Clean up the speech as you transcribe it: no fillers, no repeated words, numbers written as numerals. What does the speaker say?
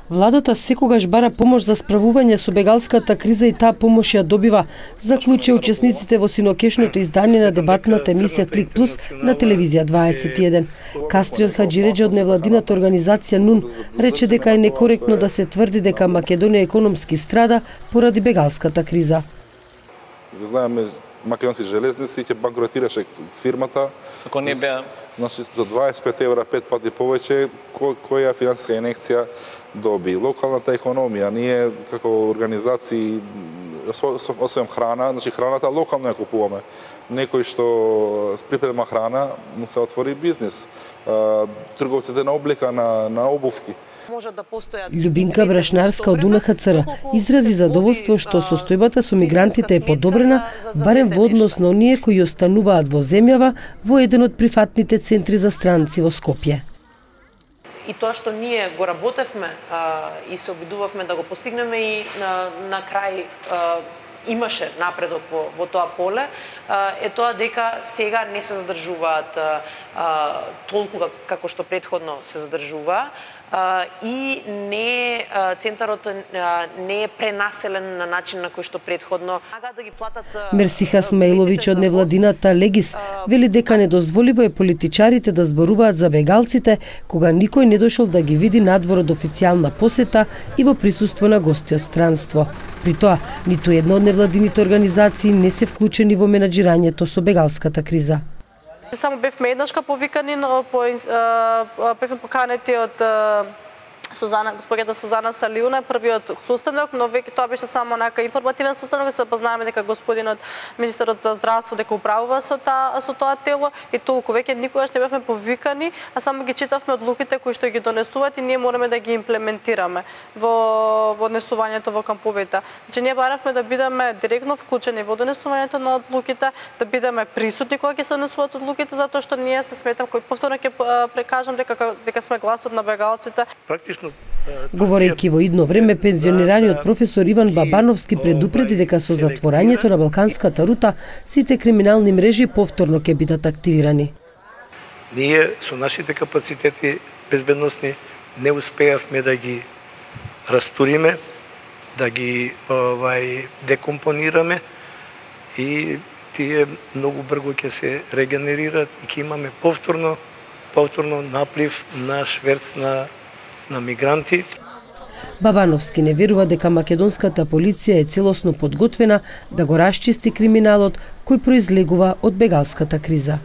Владата секогаш бара помош за справување со бегалската криза и таа помош ја добива, заклучија учесниците во синокешното издание на дебатната емисија Клик Плюс на телевизија 21. Кастриот Хаџиреџи од невладината организација НУН рече дека е некоректно да се тврди дека Македонија економски страда поради бегалската криза. Знаеме, Македонски железници ќе банкротираше фирмата. Ако не беа, значи за 25 евра 5 пати повеќе, која финансиска инекција доби. Локалната економија, ние како организации, освен храна, значи храната локално ја купуваме. Некој што припрема храна, му се отвори бизнис. Трговците на облека, на обувки. Љубинка Брашнарска од УНХЦР изрази задоволство што состојбата со мигрантите е подобрена, барем во однос на оние кои остануваат во земјава во еден од прифатните центри за странци во Скопје. И тоа што ние го работевме и се обидувавме да го постигнеме и на крај имаше напредок во тоа поле, е тоа дека сега не се задржуваат толку како што претходно се задржуваа, и центарот не е пренаселен на начин на кој што претходно. Мерсиха Смаиловиќ од невладината Легис вели дека недозволиво е политичарите да зборуваат за бегалците кога никој не дошол да ги види надвор од официјална посета и во присуство на гости од странство. При тоа, ниту една од невладините организации не се вклучени во менаџирањето со бегалската криза. Само бевме еднашка повикани, бевме поканети од госпоѓата Сузана Салиуна, првиот состанок, но веќе тоа беше само информативен состанок, се познаеме дека господинот министерот за здравство дека управува со тоа тело и толку, веќе никогаш не бевме повикани, а само ги читавме одлуките кои што ги донесуваат и ние мораме да ги имплементираме во однесувањето во камповите. Значи ние баравме да бидеме директно вклучени во донесувањето на одлуките, да бидеме присутни кога ќе се донесуваат одлуките, затоа што ние се сметам, кој повторно ќе прекажам дека сме гласот на бегалците. Говорејќи во идно време, пензионираниот професор Иван Бабановски предупреди дека со затворањето на Балканската рута сите криминални мрежи повторно ќе бидат активирани. Ние со нашите капацитети безбедносни не успеавме да ги растуриме, да ги декомпонираме и тие многу брзо ќе се регенерираат и ќе имаме повторно наплив на шверц на мигранти. Бабановски не верува дека македонската полиција е целосно подготвена да го расчисти криминалот кој произлегува од бегалската криза.